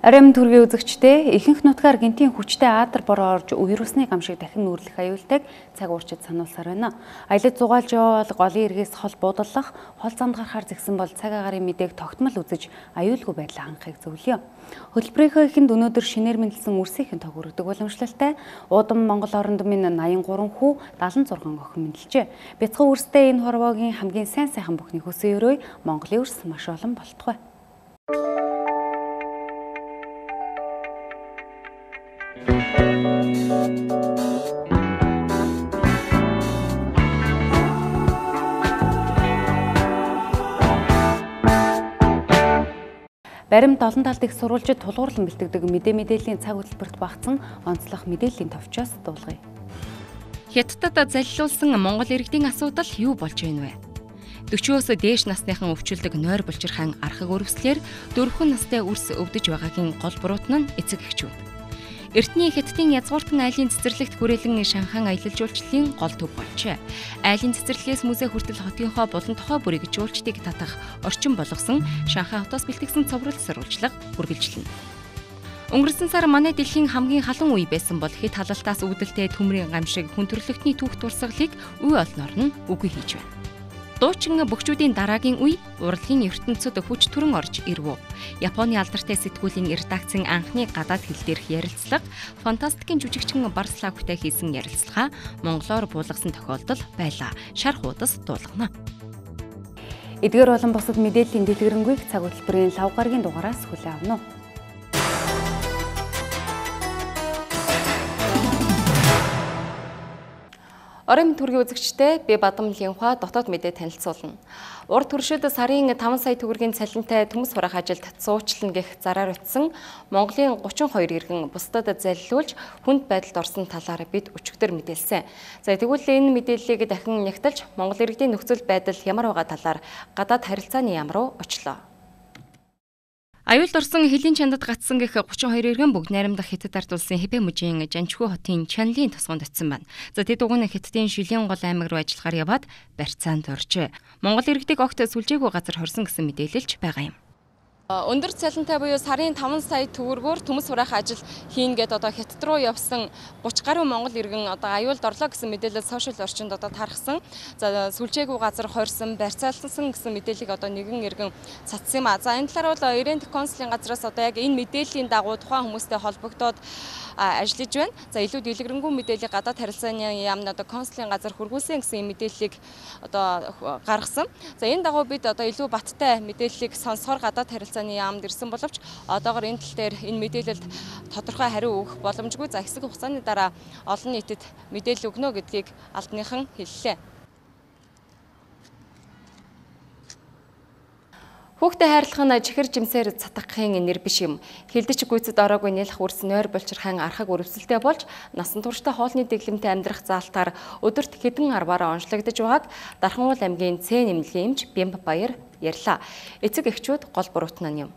Арим төргийн үзэгчдээ ихэнх нутгаар гинтийн хүчтэй аадар бороо орж вирусны гамшиг дахин нүүрлэх аюултайг цаг уурчид сануулсаар байна. Аялал зугаалж явбал голын эргээс хол буудаллах, хол замд гарахаар зэгсэн бол цаг агаарын мэдээг тогтмол үзэж аюулгүй байдлаа хангахыг зөвлөе. Хөтөлбөрийнхөө эхэнд өнөөдөр шинээр мэндэлсэн үрсийнхэн тог өргөдөг уламжлалтай Удам Монгол оронд минь 83 хүү 76 охин мэндэлжээ. Бяцхан үрстэй энэ хорвоогийн хамгийн сайн сайхан бүхний хөсөө өрөө Монголын үрс маш олон болтугай. Баримт олон талд их сурвалжид тулгуурлан бэлтгэдэг мэдээллийн цаг хөтөлбөрт багтсан онцлог мэдээллийн товчоос дуулгая. Хятадд залилуулсан Монгол иргэдийн асуудал юу болж байна вэ? 40-оос дээш насныхан өвчлөдөг нойр булчирхайн архаг өрөвслэр 4 настай үрс өвдөж байгаагийн гол буруутан нь эцэг эхчүүд. Эртний Хятадын язгууртан айлын цэцэрлэгт хүрээлэн Шанхай аялал жуулчлалын гол төв болжээ. Айлын цэцэрлэгээс музей хүртэл хотынхоо булан тухай бүрийг жуулчдыг татах орчин болгосон Шанхай хотоос бэлтгэсэн цовруул сурвалжлага үргэлжлэнэ. Өнгөрсөн сар манай дэлхийн хамгийн халуун үе байсан бол хэд халалтаас үүдэлтэй төмрийн гамшиг хүн төрөлхтний түүх турсгалыг үе олноор нь үгүй хийж байна. Дуучин бөхчүүдийн дараагийн үе урлагийн ертөнцид хүч төрөн орж ирв. Японы алдартай сэтгүүлийн редакцийн анхны гадаад хэл дээрх ярилцлага, фантастикийн жүжигчин Барславтай хийсэн ярилцлага монголоор буулгасан тохиолдол байлаа. Шар хуудас дуулгана. Эдгээр болон бусад мэдээллийн дэлгэрэнгүй цаг хөтөлбөрийн лав гарагийн дугаараас хүлээн авна уу. Орон төргийн үзэгчтэй би Бадам Линхуа дотоод мэдээ танилцуулна. Урд туршид сарын 5 сая төгрөгийн цалинтай төмс хураах ажилд цуучлана гэх зараар утсан Монголын 32 иргэн бусдад залилуулж хүнд байдалд орсон талаар бид өчигдөр мэдээлсэн. За тэгвэл энэ мэдээллийг дахин нягтлж Монгол иргэдийн нөхцөл байдал ямар байгаа талаар гадаад харилцааны яам руу очлоо. Аюулд орсон хэлийн чандад гацсан гэх 32 иргэн бүгд найрамдах Хятад ард улсын Хэбэ мужийн Жанчхүү хотын Чанлийн тосгонд очсон байна. За тэд уг нь Хятадын Шилэн гол аймаг руу ажиллахаар яваад барьцаанд оржээ. Монгол иргэдэг огт сүлжээгүй газар хорсон гэсэн мэдээлэлч байгаа юм. Өндөр цалинтай буюу сарын 5 сая төгрөгөөр төмс хураах ажил хийн гээд одоо Хятад руу явсан 30 гаруй монгол иргэн одоо аюулд орлоо гэсэн мэдээлэл сошиал орчинд одоо тархсан. За сүлжээгүй газар хорьсон, барьцаалсан гэсэн мэдээллийг одоо нэгэн иргэн цацсан юм а. За энэ талаар бол Ирент консулын газраас одоо яг энэ мэдээллийн дагуу тухайн хүмүүстэй холбогдоод ажиллаж байна. За илүү дэлгэрэнгүй мэдээллийг гадаад харилцааны яамд одоо консулын газар хүргүүлсэн гэсэн мэдээллийг одоо гаргасан. За энэ дагуу бид одоо илүү баттай мэдээллийг сонсохоор гадаад харилцааны яамд ирсэн боловч одоогоор энэ тал дээр энэ мэдээлэлд тодорхой хариу өгөх боломжгүй. За хэсэг хугацааны дараа олон нийтэд мэдээлэл өгнө гэдгийг албаныхан хэллээ. Хүүхдэд хайрлах нь чихэр жимсээр цатгахын нэр биш юм. Хилдэж гүйцэд ороогүй нэлэх үрс нойр булчирхайн архаг өрөвсөлтэй болж насан туршдаа хоолны дэглэмтэй амьдрах заалтаар өдөрт хэдэн арваараа онцлогдож байгааг Дархан аймгийн Ц нэмлэгийн эмч Бямб Баяр ярьлаа. Эцэг эхчүүд гол буруутан нь юм.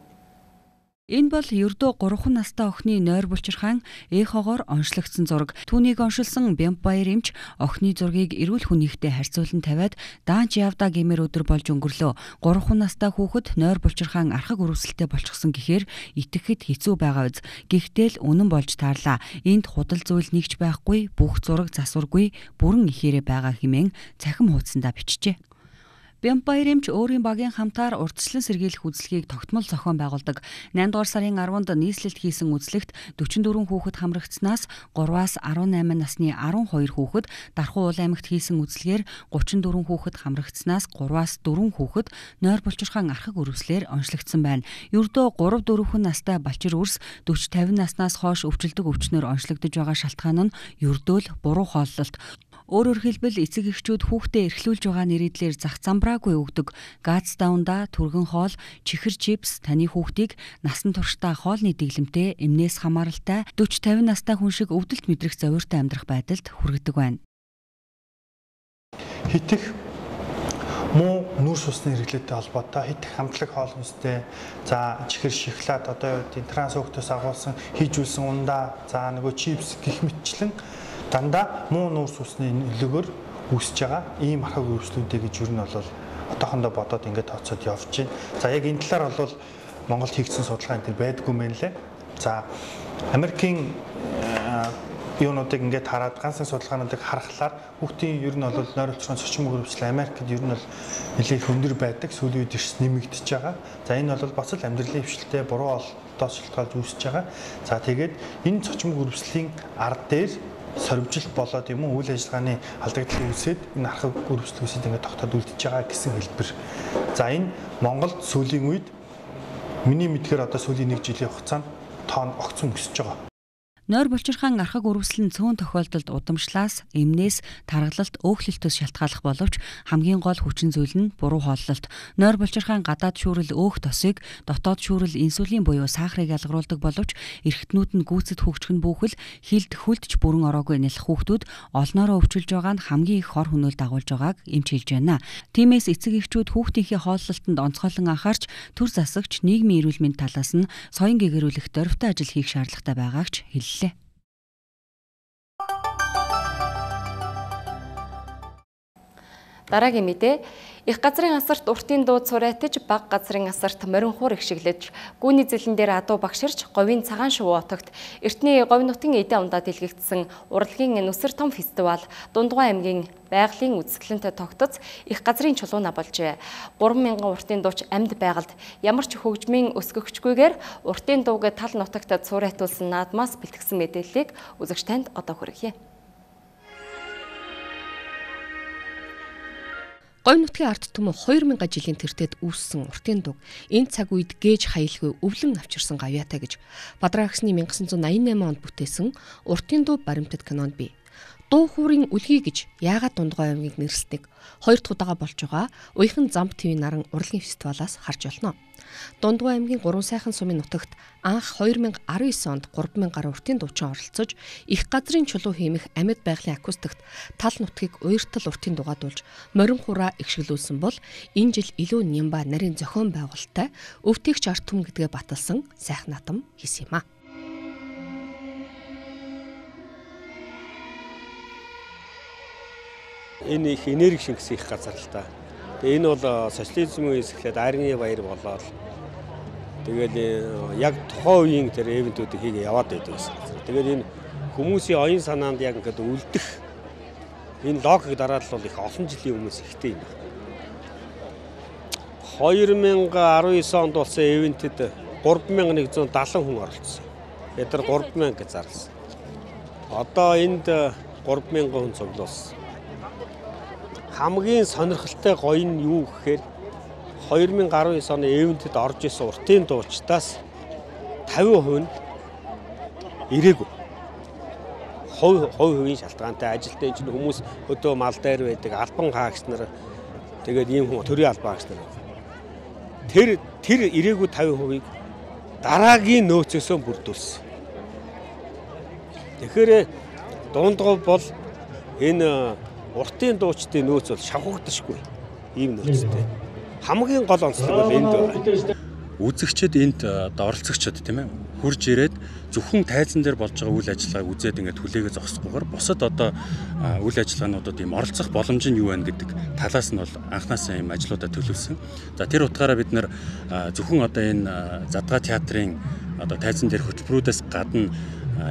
Энэ бол ердөө 3 настай охины нойр булчирхайн эхогоор онцлогдсон зураг. Түүнийг оншилсан Бямб Баяр эмч охины зургийг эрүүл хүнийхтэй харьцуулан тавиад даанч явдаа гэмээр өдөр болж өнгөрлөө. 3 настай хүүхэд нойр булчирхайн архаг өрөвсөлтэй болчихсон гэхээр итгэхэд хэцүү байгаа биз. Гэхдээ л үнэн болж таарлаа. Энд худал зүйл нэгч байхгүй, бүх зураг засваргүй, бүрэн ихээрээ байгаа хэмээн цахим хуудсандаа бичжээ. Бямб Баяр эмч өөрийн багийн хамтаар урьдчилан сэргийлэх үзлэгийг тогтмол зохион байгуулдаг. 8 дугаар сарын 10-нд нийслэлд хийсэн үзлэгт 44 хүүхэд хамрагдсанаас 3-аас 18 насны 12 хүүхэд, Дархан аймагт хийсэн үзлэгээр 34 хүүхэд хамрагдсанаас 3-аас 4 хүүхэд нойр булчирхайн архаг өрөвслээр онцлогдсон байна. Ердөө 3-4 настай балчир үрс 40-50 наснаас хойш өвчлөдөг өвчнөөр онцлогдож байгаа шалтгаан нь ердөө л буруу хооллолт. Өөрөөр хэлбэл эцэг эхчүүд хүүхдээ эрхлүүлж байгаа нэрийдлэр зах замбраагүй өгдөг газ даунда, түргэн хоол, чихэр чипс таны хүүхдийг насан туршдаа хоолны дэглэмтэй, эмнээс хамааралтай 40-50 настай хүн шиг өвдөлт мэдрэх зовиртой амьдрах байдалд хүргэдэг байна. Хитэх муу нүүрс усны хэрэглээтэй холбоотой хитэх хамтлаг хоол хүнстэй, за чихэр шоколад одоо юу гэдэг трансуктоос агуулсан хийжүүлсэн ундаа, за нөгөө чипс гэх мэтчлэн дандаа муу нүүрс усны нөлөөгөөр үүсэж байгаа ийм архаг өрөвслүүдэй гэж юу нь бол одоохондоо бодоод ингээд тооцоод явж байна. За яг энэ талаар бол Монголд хийгдсэн судалгаа энэ байдгүй мэн лээ. За Америкийн юунуудыг ингээд хараад ганцхан судалгаануудыг харахаар хүүхдийн ер нь бол нойр болчрын зочин хөрвчлэл Америкт ер нь бол нэлээд өндөр байдаг. Сүүлийн үед ирс нэмэгдэж байгаа. За энэ бол бас л амьдралын хвшилтэй буруу олдоос шалтгаалж үүсэж байгаа. За тэгээд энэ зочин хөрвчлийн ард дээр сорвжилт болоод юм уу үйл ажиллагааны алдагдлыг үүсээд энэ архаг хөрвчлэл үүсээд ингээд тогтоод үлдэж байгаа гэсэн хэлбэр. За энэ Монголд сүүлийн үед миний мэдгээр одоо сүүлийн 1 жилийн хугацаанд тоон огцон өсөж байгаа. Нойр булчирхайн архаг үрвэслэн цөөн тохиолдолд удамшлаас, эмнээс, таргалалт, өөхлөлтөөс шалтгааллах боловч хамгийн гол хүчин зүйл нь буруу хооллолт. Нойр булчирхайн гадаад шүүрэл өөх тосыг, дотоод шүүрэл инсулин буюу сахарыг ялгаруулдаг боловч эргэтнүүд нь гүйцэд хөгжих нь бүхэл хилд хүлдэж бүрэн ороогүй нялх хүүхдүүд олноороо өвчилж байгаа нь хамгийн их хор хөнөөлт дагуулж байгааг эмч хэлж байна. Тиймээс эцэг эхчүүд хүүхдийнхээ хооллолтод онцгойлон анхаарч төр засагч нийгмийн эрүүл мэнд талаас нь соён гэгэрүүлэх дөрвтэй ажил хийх шаардлагатай байгааг ч хэллээ. Дараагийн мэдээ их газрын асарт уртын дууд сураатаж баг газрын асарт морин хуур ихшиглэж гүүний зэлэн дээр адуу багширч говийн цагаан шувуу отогт эртний говь нутгийн эдийн ундаад илгээгдсэн урлагийн нүсэр том фестивал Дундгуй аймгийн байгалийн үзэсгэлэнтэй тогтоц их газрын чулууна болжээ. 3000 уртын дууч амьд байгальд ямар ч хөгжмийн өсгөгчгүйгээр уртын дууг тал нутагт сураатуулсан наадмаас бэлтгэсэн мэдээллийг үзэгч танд одоо хүргье. Говь нутгийн ард түмэн 2000 жилийн тэртет үүссэн уртын дуг энэ цаг үед гээж хаялгүй өвлөн авчирсан гавьяатай гэж Бадраагсны 1988 онд бүтээсэн уртын дуу баримтат кинонд бий. Дуу хуурын үлгий гэж яагаад Дундгуй аймгийг нэрсдэг 2 дахь удаага болж байгаа Уяхан зам ТV наран урлагийн фестивалаас харж болно. Дундгуй аймгийн 3 сайхан сумын нутагт анх 2019 онд 3000 гаруй уртын дуучин оролцож их газрын чулуу хиймэх амьд байгалийн акустикт тал нутгийг уяртал уртын дугаадуулж морин хураа игшгэлүүлсэн бол энэ жил илүү нямба нарийн зохион байгуулалттай өвтгийгч ард түмэн гэдгээ баталсан сайхан натам хийсэн юм а. Энэ их энерги шингэсэн их газар л та. Тэгээ энэ бол социализмын үеэс эхлээд арны баяр болоод тэгээд яг тухайн үеийн тэр эвентүүдийг хийгээ яваад байдаг гэсэн. Тэгээд энэ хүмүүсийн оюун санаанд яг ингээд үлдэх энэ логик дараад л бол их олон жилийн өмнөөс ихтэй юм. 2019 онд болсон эвентэд 3170 хүн оролцсон. Бид нар 3000 гэж зарласан. Одоо энд 3000 хүн цуглуулсан. Хамгийн сонирхолтой гоё нь юу гэхээр 2019 оны эвентэд орж исэн уртын дуучдаас 50% нь ирээгүй. Хувийн шалтгаантай ажилтны чинь хүмүүс өдөө мал дээр байдаг албан хаагч нар тэгээд ийм хүн төрийн албан хаагч нар. Тэр ирээгүй 50%-ийг дараагийн нөөцөөсөө бүрдүүлсэн. Тэгэхээр Дундгуй бол энэ уртын дуучдын нөөц бол шавхагдашгүй ийм нөөцтэй. Хамгийн гол онцлог бол энд байна. Үзэгчид энд оролцогчид тийм ээ хурж ирээд зөвхөн тайзан дээр болж байгаа үйл ажиллагааг үзээд ингээд хүлээгээ зогсохгүйгээр бусад одоо үйл ажиллагаануудад ийм оролцох боломж нь юу байна гэдэг талаас нь бол анхнаасаа ийм ажлуудаа төлөвлөсөн. За тэр утгаараа бид нэр зөвхөн одоо энэ Задгаа театрын одоо тайзан дээр хөтөлбөрүүдээс гадна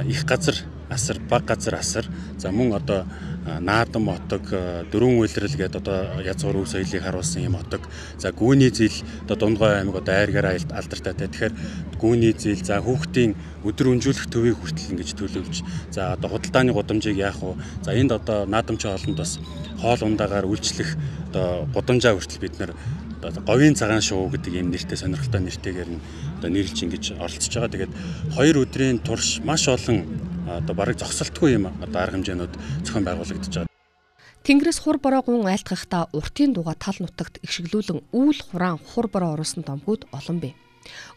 их газар асар, баг газар асар, за мөн одоо наадам отог, дөрвөн үйлрэл гэдэг одоо язгуур өв соёлыг харуулсан юм отог. За гүүний зил одоо Дундгуй аймаг одоо айргаар алдартай. Тэгэхээр гүүний зил, за хүүхдийн өдөр өнжүүлэх төвийг хүртэл ингэж төлөвлөж, за одоо худалдааны гудамжийг яах вэ? За энд одоо наадамчин хоолнд бас хоол ундаагаар үйлчлэх одоо гудамжаа хүртэл бид нар одоо говийн цагаан шувуу гэдэг ийм нэртэй сонирхолтой нэртэйгээр нь одоо нэрлж ингэж оролцож байгаа. Тэгээд 2 өдрийн турш маш олон одоо бараг зогсолтгүй юм одоо арга хэмжээнүүд зохион байгуулагдаж байгаа. Тэнгэрээс хур бороо гун айлтгахтаа уртын дуга тал нутагт игшгэлүүлэн үүл хураан хур бороо оруулсан домгууд олон бий.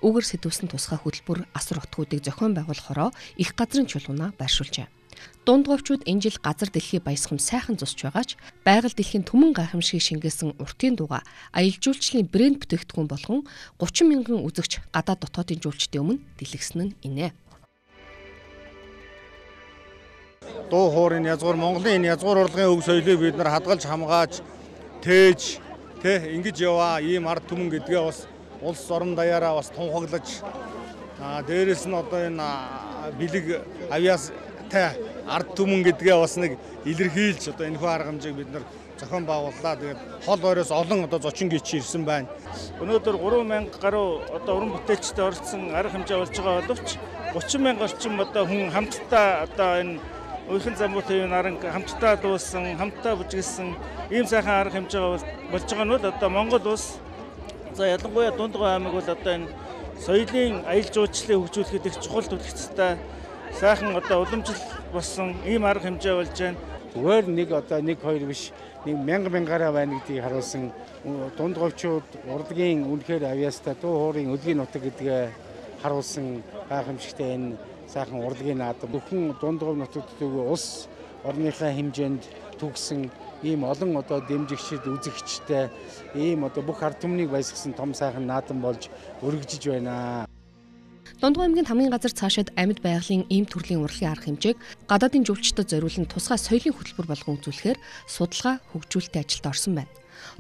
Үгээр сэтвсэн тусгай хөтөлбөр асар утгуудыг зохион байгуулахороо их газрын чулуунаа байршуулжээ. Дундгуйчууд энэ жил газар дэлхий баясгам сайхан зусч байгаач байгаль дэлхийн түмэн гайхамшиг шингээсэн уртын дуга аялал жуулчлалын брэнд бүтээгдэхүүн болгон 30 мянган үзэгч гадаад дотоодын жуулчдын өмнө дэлгэсэн нь инэ. Дуу хуурын язгуур Монголын энэ язгуур урлагийн өв соёлыг бид нар хадгалж хамгааж тээж ингэж яваа ийм ард түмэн гэдгээ бас улс орон даяараа бас тунхаглаж Дээрээс нь одоо энэ бэлэг авьяастай ард түмэн гэдгээ бас нэг илэрхийлж одоо энэхүү арга хэмжээг бид нар зохион байгууллаа. Тэгээд хол ойроос олон одоо зочин гिच ирсэн байна. Өнөөдөр 3000 гаруй одоо уран бүтээлчтэй оролцсон арга хэмжээ болж байгаа боловч 30,000 орчим одоо хүн хамтдаа одоо энэ Уйхан замбуу төвийн наранг хамтдаа дуусан, хамтдаа бүжгэлсэн ийм сайхан арга хэмжээ болж байгаа нь бол одоо Монгол улс за ялангуяа Дундгой аймаг бол одоо энэ соёлын аялал жуулчлалыг хөгжүүлэхэд их чухал төлөвлөлттэй сайхан одоо уламжлал болсон ийм арга хэмжээ болж байна. Зүгээр нэг одоо 1-2 биш нэг 1000-аараа байна гэдгийг харуулсан дундгойчууд урлагийн үнэхээр авьяастай дуу хоорын өлгийн нутаг гэдгээ харуулсан гайхамшигтай энэ сайхан урлагийн наадам бүхэн дундгой нутагт улс орныхаа хэмжээнд төгсөн ийм олон одоо дэмжигчид үзэгчтэй ийм одоо бүх ард түмнийг баясгасан том сайхан наадам болж өргөжж байна. Дундгой аймгийн хамгийн газар цаашид амьд байгалийн ийм төрлийн урлагийн арга хэмжээг гадаадын жуулчдад зориулан тусгай соёлын хөтөлбөр болгон үзүүлэхээр судалгаа хөгжүүлэлтийн ажилд орсон байна.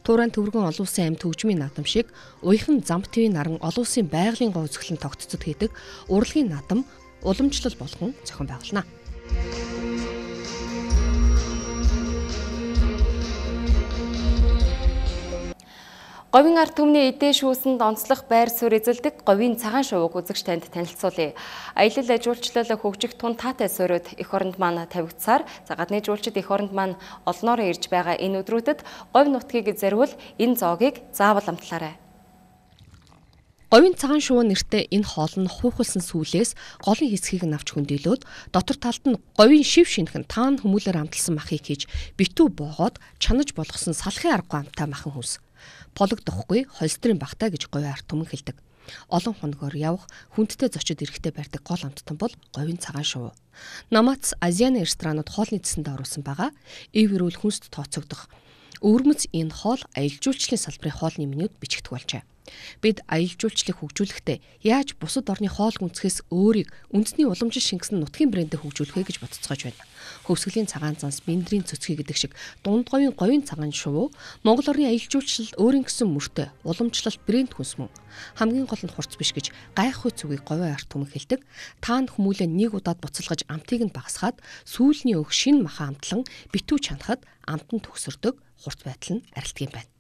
Туурайн төвөргөн олон улсын амьд хөгжмийн наадам шиг Уйхан замбтын наран олон улсын байгалийн гоо үзэсгэлэн тогтцод хийдэг урлагийн наадам уламжлал болгон зохион байгуулна. Говийн ард түмний эдээ шүүсэнд онцлог байр суурь эзэлдэг говийн цагаан шувууг үзэгч танд танилцуулъя. Аялал жуулчлал хөгжих тун таатай суурьуд эх оронд маань тавигдсаар гадны жуулчид эх оронд маань олноороо ирж байгаа энэ өдрүүдэд говь нутгийг зориул энэ зоогийг заавал амтлаарай. Говийн цагаан шувуу нэртэй энэ хоол нь хуухалсан сүүлээс голын хэсгийг нь авч хөндөөлөөд дотор талд нь говийн шив шинхэн таан хүмүүлээр амталсан махыг хийж битүү боогоод чанаж болгосон салхын аргагүй амтай махан хүнс. Пологдохгүй холстрын багтаа гэж говийн ард түмэн хэлдэг. Олон хоногоор явах хүндтэй зочид эрэхтэй барьдаг гол амттан бол говийн цагаан шувуу. Намац Азианы ресторанууд хоолны цэсэнд оруулсан байгаа. Ив эрүүл хүнст тооцогдох. Өвөрмөц энэ хоол аялал жуулчлалын салбарын хоолны менюд бичигдэх болжээ. Бид аялал жуулчлалыг хөгжүүлэхдээ яаж бусад орны хоол гүнзгээс өөрийг үндэсний уламжлал шингэсэн нутгийн брэндээр хөгжүүлэх вэ гэж бодцоогож байна. Хөвсгөлийн цагаан занс, биндрийн цөцгий гэдэг шиг дундговийн говийн цагаан шувуу Монгол орны аялал жуулчлал өөрийн гэсэн мөртөө уламжлалт брэнд хүнс мөн. Хамгийн гол нь хурц биш гэж гайхах үгийг говийн ард түмэн хэлдэг. Таанд хүмүүлээ нэг удаад буцалгаж амтыг нь багасгаад сүүлний өг шин махан амтлан битүү чанахад амт нь төгсөрдөг хурц байдал нь арилдаг юм байна.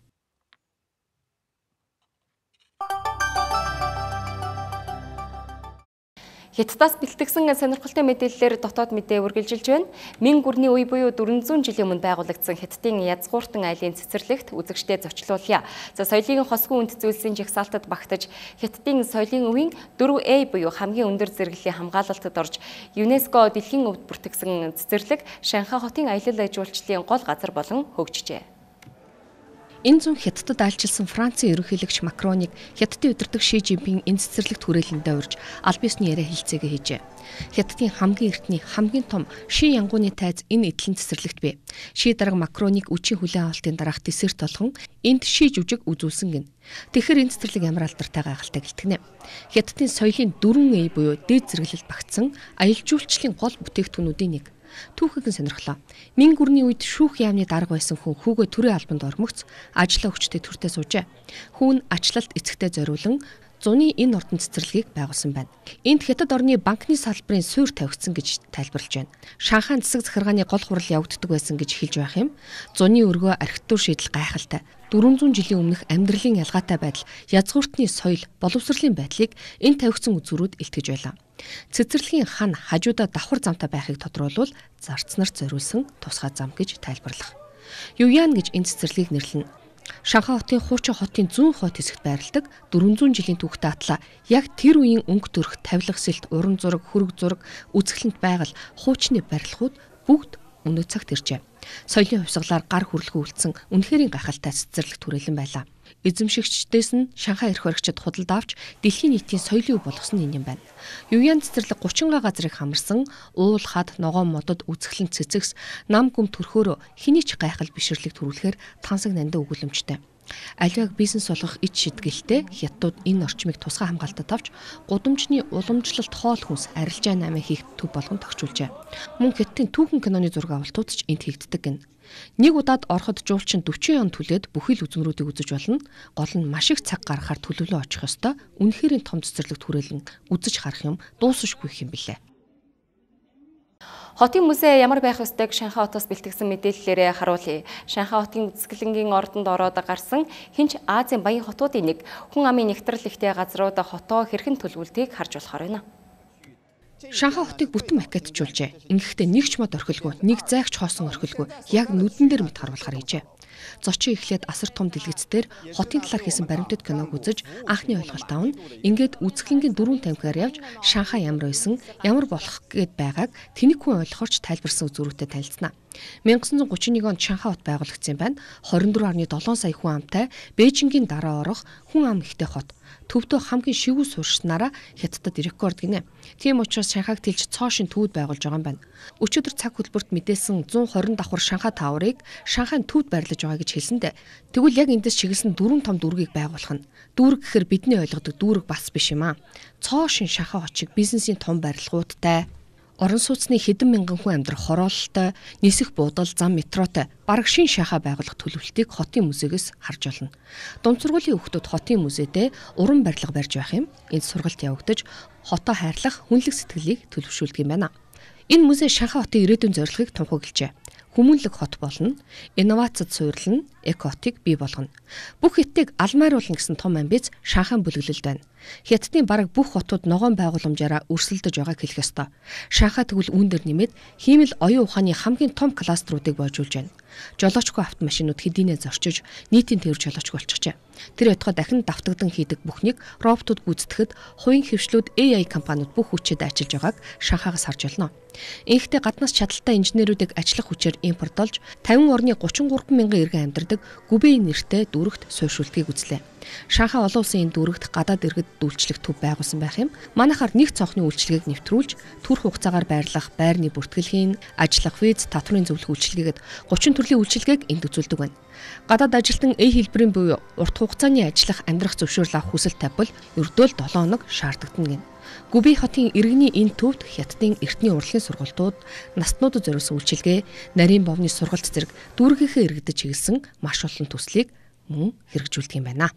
Хятадаас бэлтгэсэн сонирхолтой мэдээллээр дотоод мэдээ үргэлжилж байна. Мэн гүрний үе буюу 400 жилийн өмнө байгуулагдсан Хятадын язгууртан айлын цэцэрлэгт үзэгчдэд зочлуулъя. За соёлын хосгүй үнд зүйлсийн жагсаалтад багтаж Хятадын соёлын өвийн 4A буюу хамгийн өндөр зэрэглэлийн хамгаалалтад орж ЮНЕСКО дэлхийн өвд бүртгэсэн цэцэрлэг Шанхай хотын аялал жуулчлалын гол газар болон хөгжижээ. Энэ зүүн Хятадд айлчилсан Францын ерөнхийлөгч Макроныг Хятадын удирдагч Ши Жинпинг энэ цэцэрлэгт хүрээлэндээ урьж аль биесны яриа хэлцээгээ хийжээ. Хятадын хамгийн эртний хамгийн том Ши янгууны тайз энэ эдлэн цэцэрлэгт бий. Ши дарга Макроныг үчийн хүлээн авалтын дараах десерт болгон энд ши жүжиг үзүүлсэн гин. Тэгэхээр энэ цэцэрлэг ямар алдартай гайхалтай гэлтгэнэ. Хятадын соёлын 4A буюу дээд зэрэглэлд багтсан аялал жуулчлалын гол бүтээгдэхүүнүүдийн нэг. Түүхэгийн сонирхлоо. Мэн гүрний үед шүүх яамны дарга байсан хүн хүүгээ төрийн албанд ормогц ажлаа өгчтэй төртөө суужээ. Хүн ачлалт эцэгтэй зориулан зуны энэ ордон цэцэрлэгийг байгуулсан байна. Энд Хятад орны банкны салбарын суурь тавигдсан гэж тайлбарлаж байна. Шанхай засаг захиргааны гол хурал явагддаг байсан гэж хэлж байх юм. Зуны өргөө архитектур шийдэл гайхалтай. 400 жилийн өмнөх амьдралын ялгаатай байдал, язгууртны соёл, боловсролын байдлыг энэ тавигдсан үзүүрүүд илтгэж байлаа. Цэцэрлэгийн хан хажуудаа давхар замтай байхыг тодруулбал зарц нарт зориулсан тусгай зам гэж тайлбарлах. Юян гэж энэ цэцэрлэгийг нэрлэнэ. Шанхай хотын хуучин хотын зүүн хойд хэсэгт байрладаг 400 жилийн түүхтэй атлаа яг тэр үеийн өнгө төрх тавилга сэлт, уран зураг, хөрөг зураг, үзэсгэлэнт байгаль, хуучны барилгууд бүгд өнөө цагт иржээ. Соёлын хувьсгалаар гар хүрлэхүү үлдсэн үнэхэрийн гайхалтай цэцэрлэг түрээлэн байлаа. Эзэмшигчдээс нь Шанхай эрх баригчид худалд авч дэлхийн нийтийн соёлын өв болгосон юм байна. Юян цэцэрлэг 30 газрыг хамарсан уул хад ногоон модод үзэсгэлэн цэцэгс нам гүм төрхөөрөө хэний ч гайхал бишрлэг төрүүлэхээр тансаг нандин өгүүлэмжтэй. Аливааг бизнес болгох ид шидгэлтэй хятадууд энэ орчмыг тусгай хамгаалтад авч гудамжны уламжлалт хоол хүнс арилжаа 8 хийх төв болгон тогтжуулжээ. Мөн хятадын түүхэн киноны зураг авалтууд ч энд хийгддэг гэнэ. Нэг удаад ороход жуулчин 40 он түлээд бүхий л үзмрүүдийг үзэж болно. Гол нь маш их цаг гаргахаар төлөвлөө очих ёстой. Үнэхээр том цэцэрлэгт хүрээлэн үзэж харах юм дуусахгүй юм билээ. Хотын музей ямар байх ёстойг Шанхай хотоос бэлтгэсэн мэдээллээрээ харуулъя. Шанхай хотын үзэсгэлэнгийн ордонд ороод гарсан хинч Азийн баян хотуудын нэг хүн амын нэгтрэл ихтэй газрууд хотоо хэрхэн төлөвлөлтийг харж болохоор байна. Шанхай хотыг бүтэн макеттжуулжээ. Ингэхдээ нэг ч мод орхилгүй, нэг зайгч хоосон орхилгүй яг нүдэн дээр мэд харуулахаар хийжээ. Зочин эхлээд асар том дэлгэцээр хотын талаар хийсэн баримтат киног үзэж анхны ойлголт авна. Ингээд үзэсгэлэнгийн 4 тамхиар явж Шанхай ямар байсан, ямар болох гээд байгааг тэнэг хүн ойлгохорч тайлбарсан үзүүрүүтэй танилцсана. 1931 онд Шанхай хот байгуулагдсан байна. 24.7 сая хүн амтай Бээжингийн дараа орох хүн ам ихтэй хот. Төвдөө хамгийн шивүү суурьшнараа Хятадд рекорд гинэ. Тийм учраас Шанхайг тэлж цоошин төвд байгуулж байгаа юм байна. Өчигдөр цаг хөтөлбөрт мэдээлсэн 120 давхар Шанхай тааврыг Шанхайн төвд байрлаж байгаа гэж хэлсэндэ. Тэгвэл яг эндээс чиглэсэн 4 том дүүргийг байгуулах нь. Дүүрэг гэхээр бидний ойлгодог дүүрэг бас биш юм аа. Цоошин Шанхай хот шиг бизнесийн том барилгуудтай, орон сууцны хэдэн мянган хүн амьдрах хороололтой, нисэх буудал, зам метротой бараг шин Шанхай байгуулах төлөвлөлтийг хотын музейгээс харж болно. Дунд сургуулийн хүүхдүүд хотын музейдээ уран барилга барьж байх юм. Энд сургалт явагдаж хотоо хайрлах хүнлэг сэтгэлийг төлөвшүүлдэг юм байна. Энэ музей Шанхай хотын ирээдүйн зорилгыг тунхаглажээ. Хүмүүнлэг хот болно, инновацид суйрлана, экотик бий болгоно. Бүх хятадыг алмайруулна гэсэн том амбиц Шанхайн бүлэглэлд байна. Хятадын бараг бүх хотууд ногоон байгууламжаараа өрсөлдөж байгааг хэлэх ёстой. Шанхай тэгвэл үүн дээр нэмээд хиймэл оюун ухааны хамгийн том кластеруудыг бойжуулж байна. Жолоочгүй автомашинууд хэдийнэ зорчиж нийтийн тээвэр жолоочгүй болчихжээ. Тэр ятгаа дахин давтагдан хийдэг бүхнийг роботууд гүйцэтгэхэд хувийн хөвшлүүд AI компаниуд бүх хүчээр ажиллаж байгааг Шанхайгаас харж байна. Инхдээ гаднаас чадaltaй инженерүүдийг ажиллах хүчээр импортлж 50 орны 33 мянган иргэн амьдардаг Гүбэй нэртэй дүүрэгт суурьшуултгийг үзлээ. Шанхай олон улсын энэ дүүрэгт гадаад иргэд үйлчлэх төв байгуулсан байх юм. Манайхаар нэг цонхны үйлчлэгийг нэвтрүүлж, төрх хугацаагаар байрлах, байрны бүртгэлхийн, ажиллах виз, татврын зөвлөх үйлчлэгээд 30 төрлийн үйлчлэгийг энд үзүүлдэг байна. Гадаад ажилтан хэлбэрийн буюу урт хугацааны ажиллах, амьдрах зөвшөөрөл авах хүсэл тавьбал ердөө л 7 хоног шаарддаг гэнэ. Гүбэй хотын иргэний энэ төвд Хятадын эртний урлагийн сургалтууд, настнуудад зориулсан үйлчилгээ, нарийн бовны сургалт зэрэг дүүргийнхээ иргэдэд чиглэсэн маш олон төслийг мөн хэрэгжүүлдэг юм байна.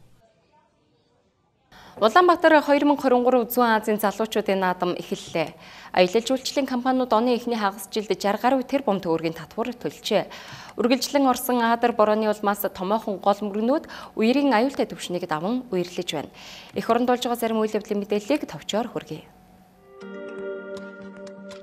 Улаанбаатар 2023 Зүүн Азийн залуучуудын наадам эхэллээ. Аялал жуулчлалын компаниуд оны эхний хагас жилд 60 гаруй тэрбум төгрөгийн татвар төлжээ. Үргэлжлэн орсон Адар борооны улмаас томоохон гол мөргнүүд үерийн аюултай түвшнийг даван үерлэж байна. Эх оронд болж байгаа зарим үйл явдлын мэдээллийг товчоор хүргэе.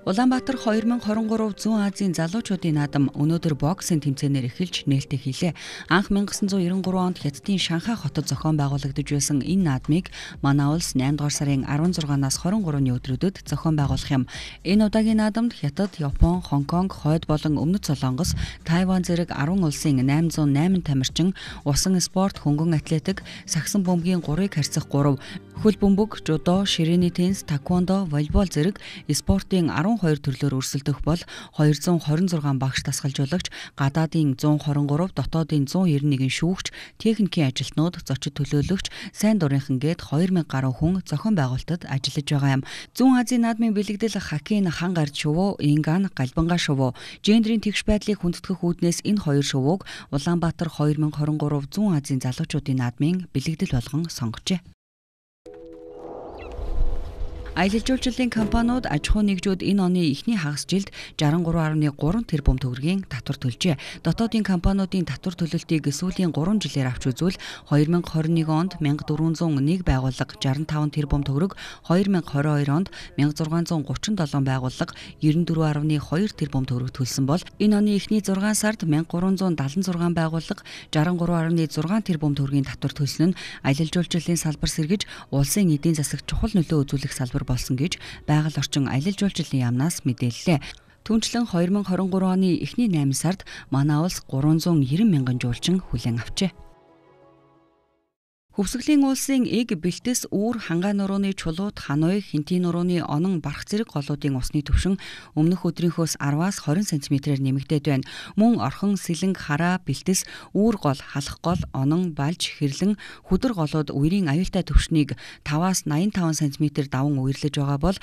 Улаанбаатар 2023 Зүүн Азийн залуучуудын наадам өнөөдөр боксын тэмцээнээр эхэлж нээлттэй хийлээ. Анх 1993 онд Хятадын Шанхай хотод зохион байгуулагдаж байсан энэ наадмыг манай улс 8 дугаар сарын 16-наас 23-ны өдрүүдэд зохион байгуулах юм. Энэ удаагийн наадамд Хятад, Япон, Хонконг, Хойд болон Өмнөд Солонгос, Тайван зэрэг 10 улсын 808 тамирчин, усан спорт, хөнгөн атлетик, сагсан бөмбөгийн 3-ыг харьцах 3, хөл бөмбөг, жудо, ширээний теннис, таквондо, волейбол зэрэг спортын 12 төрлөөр өрсөлдөх бол 226 багш тасгалжуулагч, гадаадын 123, дотоодын 191 шүүгч, техникийн ажилтнууд, зочид төлөөлөгч, сайн дурынхан гээд 2000 гаруй хүн зохион байгуулалтад ажиллаж байгаа юм. Зүүн Азийн наадмын бэлэгдэл хоккейн хан гард шувуу, инган галбанга шувуу, гендрийн тэгш байдлыг хүндэтгэх үүднээс энэ хоёр шувууг Улаанбаатар 2023 Зүүн Азийн залуучуудын наадмын бэлэгдэл болгон сонгожээ. Аялал жуулчлалын компаниуд аж ахуй нэгжүүд энэ оны эхний хагас жилд 63.3 тэрбум төгрөгийн татвар төлжээ. Дотоодын компаниудын татвар төлөлтийг сүүлийн 3 жилээр авч үзвэл 2021 онд 1401 байгууллага 65 тэрбум төгрөг, 2022 онд 1637 байгууллага 94.2 тэрбум төгрөг төлсөн бол энэ оны эхний 6 сард 1376 байгууллага 63.6 тэрбум төгрөгийн татвар төлсөн нь аялал жуулчлалын салбар сэргэж улсын эдийн засагт чухал нөлөө үзүүлэх салбар болсон гэж байгаль орчин аялал жуулчлалын яамнаас мэдээллээ. Түүнчлэн 2023 оны эхний 8 сард манай улс 390 мянган жуулчин хүлээн авчээ. Хөвсгөлийн улсын эг бэлтэс үүр хангаа нурууны чулууд ханой хинтийн нурууны онон барах зэрэг голуудын усны түвшин өмнөх өдрийнхөөс 10-аас 20 см-ээр нэмэгдээд байна. Мөн орхон сэлэнг хараа бэлтэс үүр гол халах гол онон балж хэрлэн хүдэр голууд үерийн аюултай түвшнийг 5-аас 85 см даван үерлэж байгаа бол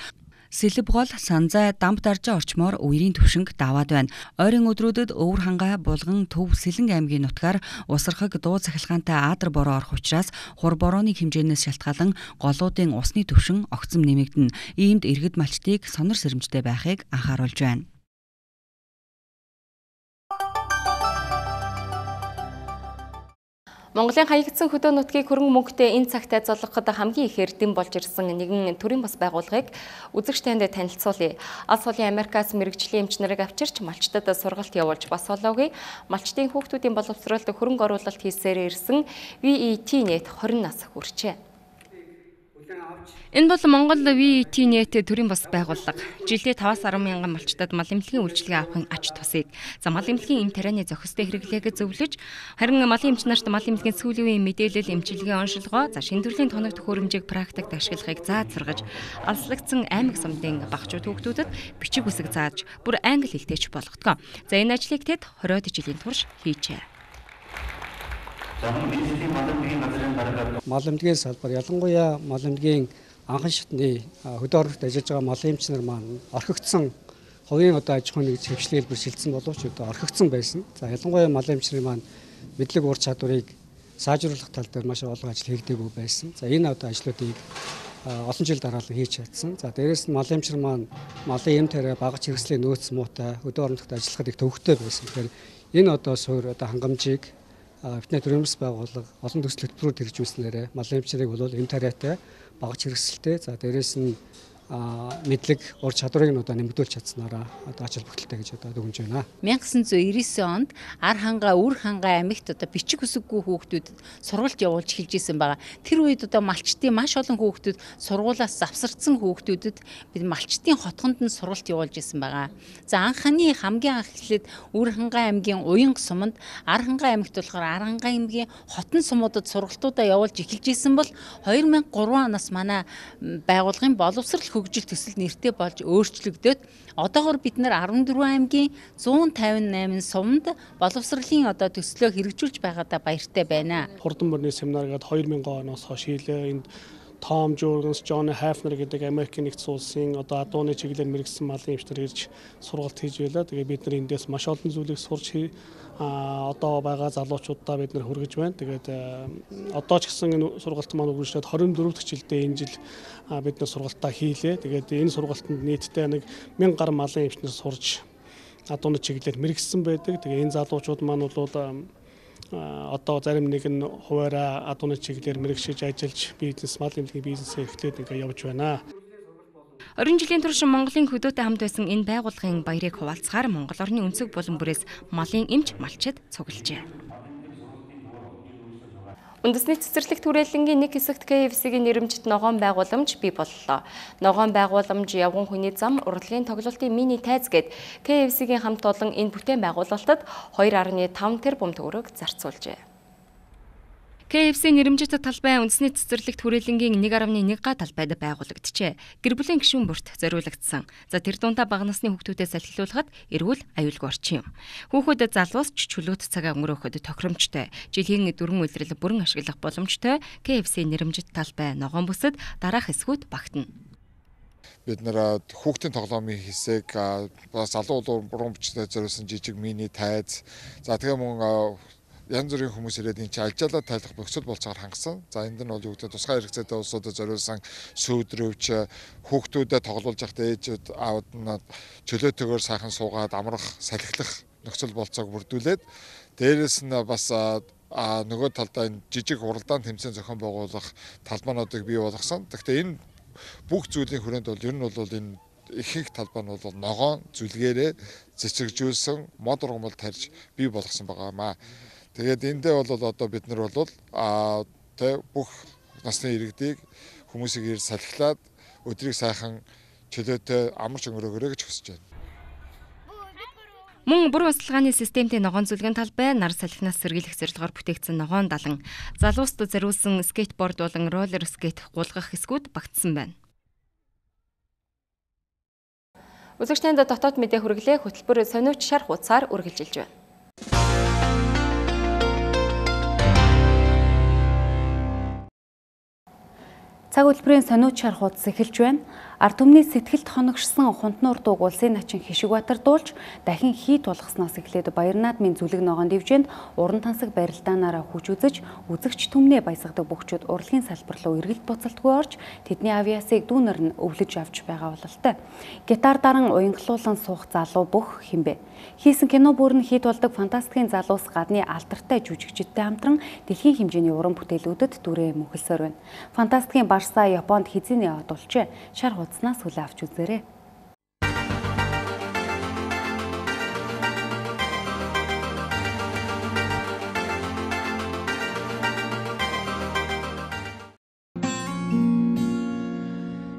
Сэлб гол санзай дамп даржаа орчмоор үерийн түвшинг даваад байна. Ойрын өдрүүдэд Өвөр хангаа Булган Төв Сэлэнг аймгийн нутгаар усархаг дуу цахилгаантай аадар бороо орох учраас хур борооны хэмжээнээс шалтгаалan голуудын усны түвшин огцом нэмэгдэнэ. Иймд иргэд малчдыг сонор сэрэмжтэй байхыг анхааруулж байна. Монголын хаягдсан хөдөө нутгийг хөрөнгө мөнгөтэй энэ цагтаа золгоход хамгийн ихээр дэм болж ирсэн нэгэн төрийн бас байгууллагыг үзэгч танд танилцуулъя. Алс холын Америкаас мэрэгжлийн эмч нарыг авчирч малчдад сургалт явуулж бас болоогүй. Малчдын хүүхдүүдийн боловсролд хөрөнгө оруулалт хийсээр ирсэн VET Net 20 нас хүрчээ. Энэ бол Монгол VET Net төрийн бас байгууллага. Жилдээ 5-10 мянган малчдад мал эмнэлгийн үйлчилгээ авахын ач тусыг мал эмнэлгийн эм тарианы зохистой хэрэглээг зөвлөж, харин малын эмч нарт мал эмнэлгийн сүүлийн үеийн мэдээлэл эмчилгээ оншилгоо, шинэ төрлийн тоног төхөөрөмжийг практикт ашиглахыг зааж алслагдсан аймаг сумдын багчууд хүүхдүүдэд бичиг үсэг зааж, бүр англи хэлтэйч болгодог. Энэ ажлыг тэд 20 жилийн турш хийжээ. Мал эмнэлгийн салбар ялангуяа мал эмнэлгийн анхан шатны хөдөө оруулалт ажиллаж байгаа мал эмч нар маань орхигдсон хувийн аж ахуйн нэгж хөвчлөгийг бэрхшээлсэн боловч орхигдсон байсан. За ялангуяа мал эмч нар маань мэдлэг ур чадварыг сайжруулах тал дээр маш олон ажил хийгдээгүй байсан. За энэ ажлуудыг олон жил дараалан хийж чадсан. За дээрээс нь мал эмч нар маань малын эм тариа багаж хэрэгслийн нөөц муутай хөдөө оруулалт ажиллахад их төвөгтэй байсан. Тэгэхээр энэ суур хангамжийг Бидний төрийн бас байгууллага олон төсөл хөтөлбөрөөр хэрэгжүүлснээр мал эмч нарыг бол эм тариатай багаж хэрэгсэлтэй. За дээрээс нь мэдлэг ур чадварыг нэмэгдүүлж чадсанараа ач холбогдолтой гэж дүгнэж байна. 1999 онд ар хангаа үр хангаа аймагт бичиг үсэггүй хүүхдүүдэд сургалт явуулж эхэлж исэн байгаа. Тэр үед малчтын маш олон хүүхдүүд сургуулиас завсардсан хүүхдүүдэд бид малчтын хотгонд нь сургалт явуулж исэн байгаа. За хамгийн анх эхлээд үр хангаа аймгийн уянга суманд, ар хангаа аймагт болохоор ар хангаа аймгийн хотон сумуудад сургалтуудаа явуулж эхэлж исэн бол 2003 оноос манай байгууллагын боловсрол хөгжил төсөл нэртэй болж өөрчлөгдөд одоогоор бид нар 14 аймгийн 158 сумд боловсролын төслөө хэрэгжүүлж байгаадаа баяртай байна. Хурдан мөрний семинар гээд 2000 оноос хойш хийлээ. Энд Том Жоргенс, Джон Хафнер гэдэг Америкийн нэгдсэн улсын адууны чиглэлээр мэргэжсэн малын эмч нар ирж сургалт хийж байлаа. Тэгээ бид нар эндээс маш олон зүйлийг сурч одоо байгаа залуучуудаа бид нар хүргэж байна. Тэгээд одоо ч гэсэн энэ сургалт маань үргэлжлээд 24 дахь жилдээ энэ жил бид нар сургалтаа хийлээ. Тэгээд энэ сургалтанд нийтдээ 1000 гаруй малын эмч нар сурж адууны чиглэлээр мэргэжсэн байдаг. Тэгээ энэ залуучууд маань бол одоо зарим нэг нь хуваараа адууны чиглэлээр мэргэжиж ажиллаж бизнес мал эмнэлгийн бизнесээ эхлээд явж байна. 20 жилийн турш Монголын хөдөөтэй хамт байсан энэ байгууллагын баярыг хуваалцахаар Монгол орны өнцөг булан бүрээс малын эмч малчид цуглжээ. Үндэсний цэцэрлэгт хүрээлэнгийн нэг хэсэгт KFC-ийн нэрэмжит ногоон байгууламж бий боллоо. Ногоон байгууламж явган хүний зам урлагийн тоглолтын мини тайз гээд KFC-ийн хамт олон энэ бүтээн байгуулалтад 2.5 тэрбум төгрөг зарцуулжээ. KFC нэрэмжит талбай үндэсний цэцэрлэгт хүрээлэнгийн 1.1 га талбайд байгуулагджээ. Гэр бүлийн гишүүн бүрт зориулагдсан. За тэр дундаа бага насны хүүхдүүдээс салхилуулахад эрүүл аюулгүй орчин юм. Хүүхдэд залуус чөлөөт цагаа өнгөрөөхөд тохиромжтой. Жилийн 4 үйлрэл бүрэн ашиглах боломжтой KFC нэрэмжит талбай ногоон бүсэд дараах хэсгүүд багтана. Бид нэр хүүхдийн тоглоомын хэсэг залуу уран бүтээлтэй зориулсан жижиг мини тайз. За тэгээ мөн янз бүрийн хүмүүс ирээд энэ алжаалаа тайлах бөхцөл болцоор хангасан. За энд нь бол юу гэдэг тусгай хэрэгцээтэй улсуудад зориулсан сүйдрөвч хүүхдүүдэд тоглуулж явахдаа ээжүүд аауд нь чөлөөтэйгээр сайхан суугаад амрах, салхилах нөхцөл болцоог бүрдүүлээд дээрэс нь бас нөгөө талдаа энэ жижиг хуралдаан тэмцээн зохион байгуулах талбайнуудыг бий болгосон. Гэхдээ энэ бүх зүйлийн хүрээнд бол ер нь бол энэ ихэнх талбай нь бол ногоон зүлгээрээ цэцэгжүүлсэн мод ургамал тарьж бий болгосон байгаамаа. Тэгээд эндээ бол одоо бид нар бол бүх насны иргэдийг хүмүүсийг ир салхилаад өдрийг сайхан чөлөөтэй амарч өнгөрөөгөө гэж хүсэж байна. Мөн бүрэн усалгааны системийн ногоон зүлгэн талбай, нар салхинаас сэргийлэх зорилгоор бүтээгдсэн ногоон далан, залуустад зориулсан скейтборд болон роллер скейт гулгах хэсгүүд багтсан байна. Үзэгчдэнд дотоод мэдээ хүргэлээ хөтөлбөр сониуч шар хуудасаар үргэлжилж байна. Цаг хөтөлбөрийн сониуч шар хуудас эхэлж байна. Ард түмний сэтгэлд хоногшсон хунтнуур дууг улсын начин Хишигбаатар дуулж дахин хий тулгаснаас эхлээд Баяр наадмын зүлэг ногоон дивжээнд уран тансаг барилдаанаараа хүч үзэж үзэгч түмнээ баясгадаг бөхчүүд урлагийн салбар руу эргэлт буцалтгүй орж тэдний авиасыг дүүнер нь өвлөж авч байгаа бололтой. Гитар даран уянгалуулан суух залуу бүх хинбэ. Хийсэн кино бүр нь хий тулдаг фантастикийн залуус гадны алдартай жүжигчидтэй хамтран дэлхийн хэмжээний уран бүтээлүүдэд дүрээ мөнхөлсөөр байна. Фантастикийн Барса Японд хизээний яваад болжээ. Шар хуудаснаас хүлээ авч үзээрэй.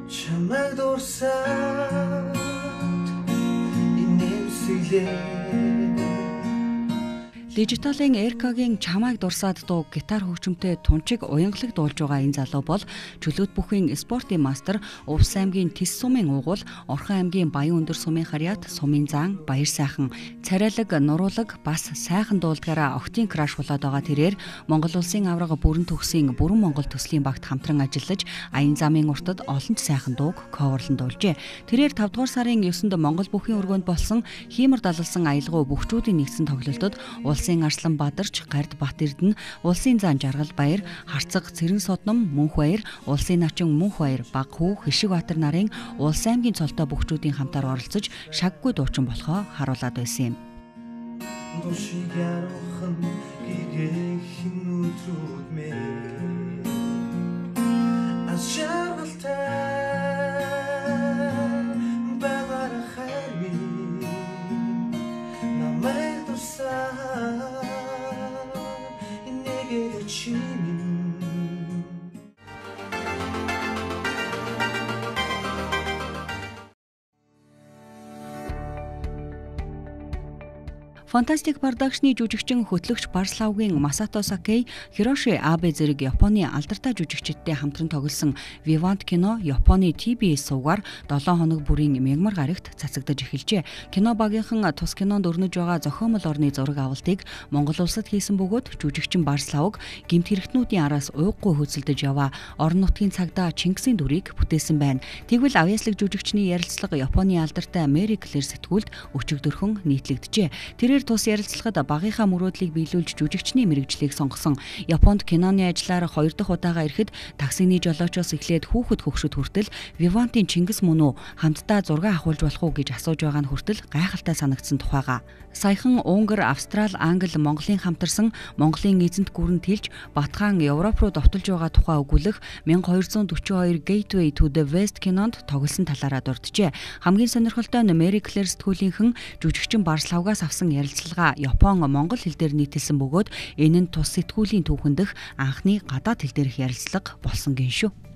Чамайг дурсаад инээмсэглээ. Дижиталын Эркагийн чамайг дурсаад дуу гитар хөгжимтэй тунчиг уянгалаг дуулж байгаа энэ залуу бол чөлөөт бүхийн спортын мастер, Увс аймгийн Тис сумын уугуул, Орхон аймгийн Баян өндөр сумын харьяат, сумын заан, баяр сайхан, царайлаг, нуруулаг бас сайхан дуулдгаараа октийн краш болоод байгаа тэрээр Монгол улсын аврага бүрэн төгсийн Бүрэн Монгол төслийн багт хамтран ажиллаж аян замын уртад олон ч сайхан дууг коверлон дуулжээ. Тэрээр 5 дугаар сарын 9-нд Монгол бүхийн өргөнд болсон Хиймэр далалсан аялгау бүхчүүдийн нэгдсэн тоглолтод Улсын Арслан Бадарч, Гард Бат Эрдэнэ, Улсын заан Жаргал Баяр, Харцаг Цэрэн Содном Мөнх Баяр, Улсын начин Мөнх Баяр, Баг Хүү, Хишигбаатар нарын Улс аймгийн цолтой бүхчүүдийн хамтаар оролцож шаггүй дуучин болохоо харуулад байсан юм. Фантастик продакшны жүжигчин хөтлөгч Барславгийн Масато Сакей, Хироши Абе зэрэг Японы алдартай жүжигчидтэй хамтран тоглосон Vivant кино Японы TBS сувгаар 7 хоног бүрийн мягмар гарагт цацагдаж эхэлжээ. Кино багийнхан тус кинонд өрнөж байгаа зохиомол орны зураг авалтыг Монгол улсад хийсэн бөгөөд жүжигчин Барславг гэмт хэрэгтнүүдийн араас уйггүй хөөцөлдөж яваа орон нутгийн цагдаа Чингисийн дүрийг бүтээсэн байна. Тэгвэл авьяаслаг жүжигчний ярилцлага Японы алдартай Мэри Клэр сэтгүүлд өчигдөрхөн нийтлэгдэжээ. Тэрээр тус ярилцлагад багийнхаа мөрөөдлийг биелүүлж жүжигчний мэрэгжлийг сонгосон. Японд киноны ажиллаар 2 дахь удаага ирэхэд таксины жолоочоос эхлээд хүүхэд хөгшөд хүртэл Вивантын Чингис мөн үү хамтдаа зураг авахулж болох уу гэж асууж байгаа нь хүртэл гайхалтай санагдсан тухайга. Саяхан Унгар, Австрал, Англи, Монголын хамтарсан Монголын эзэнт гүрэн тэлж Батхан Европ руу довтолж байгаа тухай өгүүлэх 1242 Gateway to the West кинонд тоглосон талаараа дурджээ. Хамгийн сонирхолтой нь Мэри Клэр сэтгүүлийнхэн жүжигчин Барславгаас авсан ярилцлага Япон, Монгол хэл дээр нийтэлсэн бөгөөд энэ нь тус сэтгүүлийн түүхэн дэх анхны гадаад хэл дээрх ярилцлага болсон гин шүү.